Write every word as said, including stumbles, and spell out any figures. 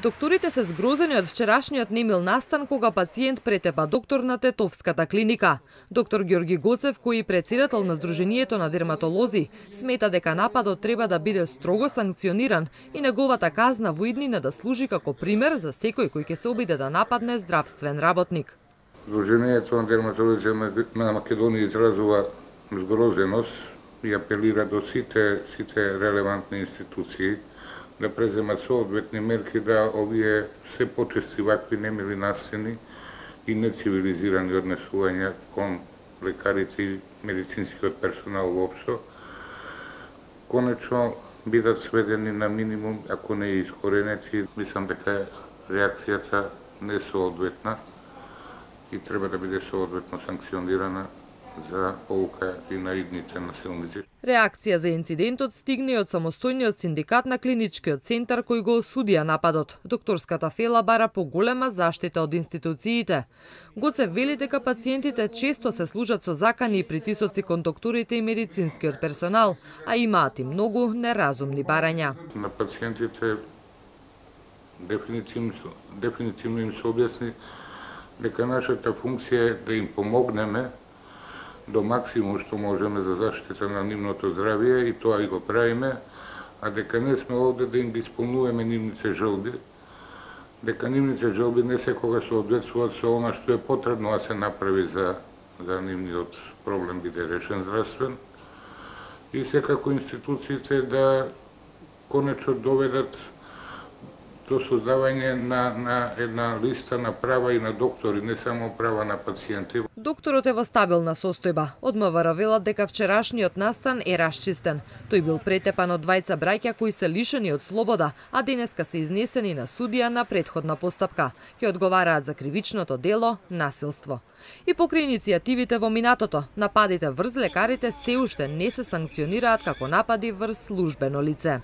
Докторите се згрозени од вчерашниот немил настан кога пациент претепа доктор на Тетовската клиника. Доктор Ѓорги Гоцев, кој е председател на Сдруженијето на дерматолози, смета дека нападот треба да биде строго санкциониран и неговата казна во иднина да служи како пример за секој кој ќе се обиде да нападне здравствен работник. Сдруженијето на дерматолози на Македонија изразува згрозеност и апелира до сите сите релевантни институции да преземат соодветни мерки да овие се почести вакви немили настани и нецивилизирани однесувања кон лекарите и медицинскиот персонал воопшто конечно бидат сведени на минимум, ако не и искоренети. Мислам дека реакцијата не е соодветна и треба да биде соодветно санкционирана за полука и на идните насилници. Реакција за инцидентот стигне од самостојниот синдикат на клиничкиот центар кој го осудија нападот. Докторската фела бара поголема заштита од институциите. Гоцев вели дека пациентите често се служат со закани и притисоци кон докторите и медицинскиот персонал, а имаат и многу неразумни барања. На пациентите дефинитивно, дефинитивно им се објасни дека нашата функција е да им помогнеме до максимум што можеме за заштита на нивното здравје и тоа и го правиме, а дека не сме овде да им ги исполнуваме нивните желби, дека нивните желби не секогаш соодветствуваат со она што е потребно да се направи за, за нивниот проблем биде решен здравствен и секако институциите да конечно доведат до создавање на, на една листа на права и на доктори, не само права на пациенти. Докторот е во стабилна состојба. Од МВР велат дека вчерашниот настан е расчистен. Тој бил претепан од двајца браќа кои се лишени од слобода, а денеска се изнесени на судија на претходна постапка. Ќе одговараат за кривичното дело насилство. И покрај иницијативите во минатото, нападите врз лекарите се уште не се санкционираат како напади врз службено лице.